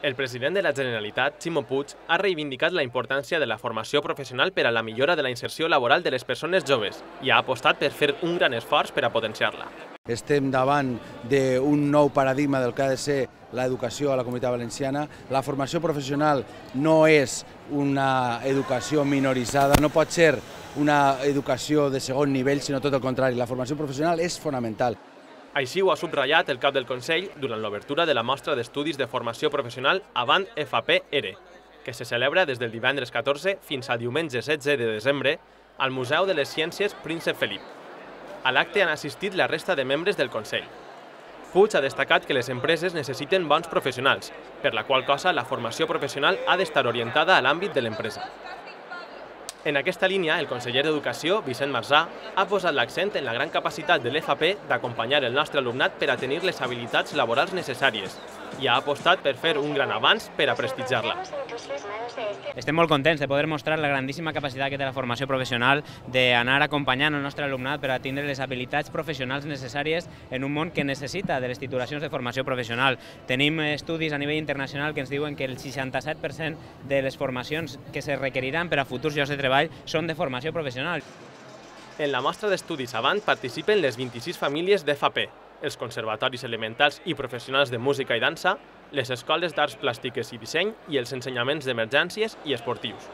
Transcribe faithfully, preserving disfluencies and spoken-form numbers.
El president de la Generalitat, Ximo Puig, ha reivindicat la importància de la formació professional per a la millora de la inserció laboral de les persones joves i ha apostat per fer un gran esforç per a potenciar-la. Estem davant d'un nou paradigma del que ha de ser l'educació a la Comunitat Valenciana. La formació professional no és una educació minoritzada, no pot ser una educació de segon nivell, sinó tot el contrari. La formació professional és fonamental. Així ho ha subratllat el cap del Consell durant l'obertura de la mostra d'estudis de formació professional Avant F P E R E, que se celebra des del divendres catorze fins al diumenge setze de desembre al Museu de les Ciències Príncep Felip. A l'acte han assistit la resta de membres del Consell. Puig ha destacat que les empreses necessiten bons professionals, per la qual cosa la formació professional ha d'estar orientada a l'àmbit de l'empresa. En aquesta línia, el conseller d'Educació, Vicent Marzà, ha posat l'accent en la gran capacitat de l'F P d'acompanyar el nostre alumnat per a tenir les habilitats laborals necessàries i ha apostat per fer un gran avanç per a prestigiar-la. Estem molt contents de poder mostrar la grandíssima capacitat que té la formació professional d'anar acompanyant el nostre alumnat per a tindre les habilitats professionals necessàries en un món que necessita de les titulacions de formació professional. Tenim estudis a nivell internacional que ens diuen que el seixanta-set per cent de les formacions que se requeriran per a futurs llocs de treball són de formació professional. En la mostra d'estudis Avant participen les vint-i-sis famílies d'F P, els conservatoris elementals i professionals de música i dansa, les escoles d'arts plàstiques i disseny i els ensenyaments d'emergències i esportius.